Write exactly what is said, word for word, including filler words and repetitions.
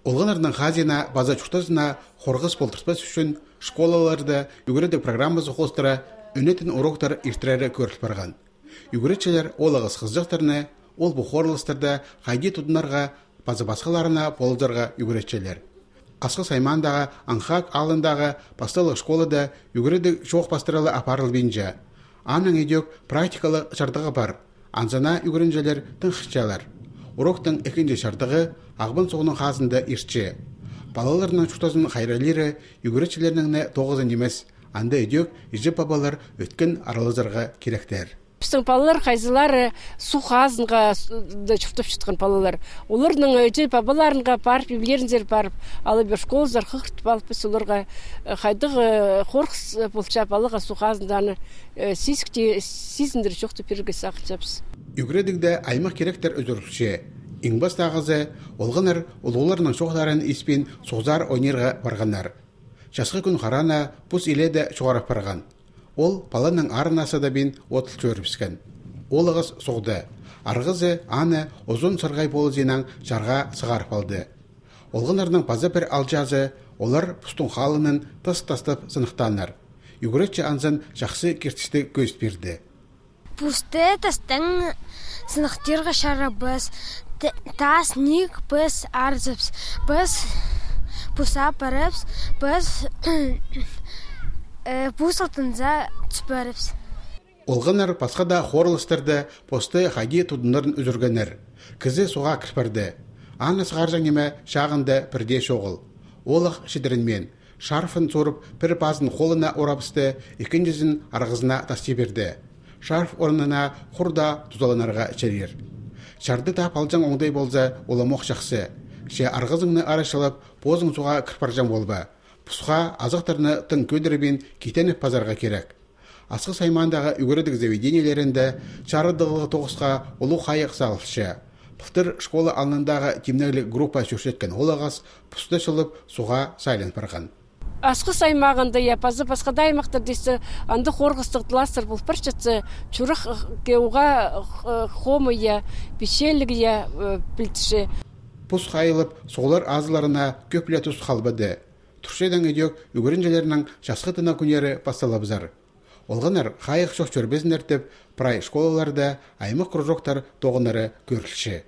Олғанардың хазина база чуқтазына хорғыз полтырспас үшін школаларды үгіредік программасы қостыра үнетін уроктар иртірәрі көріліп барған. Үгіретшілер олығыз қызжақтарыны, ол бұқорлыстырды қайди тұдынарға база басқаларына полыздарға үгіретшілер. Қасқы саймандағы аңхақ алындағы басталық школада үгіредік жоқ бастыралы апарыл бенже. Аның едек практикалы шартығы бар. Анзана үгірінжелер тыңқышчалар. Уроктың екінші шартығы ағбын соғының қасында иртші. Балаларының чуқтазының қайралері үгіретшілерінің тоғызын емес, анда едек ежіп бабалар өткен аралызарға керектер. Біздің балалар қайзылары су қазынға чуқтап шытқан балалар. Олардың өте бабаларынға барып, евлеріндер барып, алып бір школыздар қықыртып алып, біз оларға қайдығы қорқыс болча балыға су қазынданы сезіндір жоқты перге сақылчапыз. Үгіредігді аймақ керектер өздірікше. Иңбас тағызы, олғанар олғыларының шоқтарын еспен соғзар ойнерға барғанар. Жасқы күн қарана бұс иледі жоғарып барған. Ол паланың арынасы да бен отыл көріпскен. Ол ағыз соғды. Арғызы аны ұзын сырғай болы зенің жарға сығарып алды. Олғанардың база бір алжазы, олар пұстың қалының тас-тастап сынықтанар. Үгіретші анзын жақсы кертісті көз берді. Пусты тастың сынықтырға шара біз, тас ник біз арзыпс, біз пуса парыпс, біз пусалтынза түспәріпс. Олғанар басқа да хорлыстырды, посты қайди тұдынларын үзіргенер. Кізі суға кірпірді. Аны сығаржан еме шағынды бірде шоғыл. Олық шедірінмен, шарфын сорып, бір базын қолына орапысты, екіншізін арғызына тасти берді. Шарф орнына құрда тұзаланарға чәрер. Шарды тап алжан оңдай болза, ола моқ жақсы. Ше арғызыңны арашылып, бозың суға кірпаржан болба. Пұсқа азықтарыны тың көдірібен кетеніп пазарға керек. Асқы саймандағы үгіредік заведениелерінде чарыдығылы тоғысқа ұлу қайық салышы. Пұқтыр школа алындағы темнәлік группа жүршеткен олағас пұсты шылып суға сайлен барған. Асқы саймағында я пазы басқада аймақтар дейсі анды қорғыстықтыластыр бұл бір жатсы чүрік кеуға қомы я, пешелігі я білтіші. Пұс қайылып соғылар азыларына көплі тұс қалбады. Тұршайдан өдек үгірінжелерінің жасқы тына күнері басталабызар. Олғанар қайық шоқ чөрбезін әртіп, прай школаларда аймақ құржоқтар тоғынары көрілші.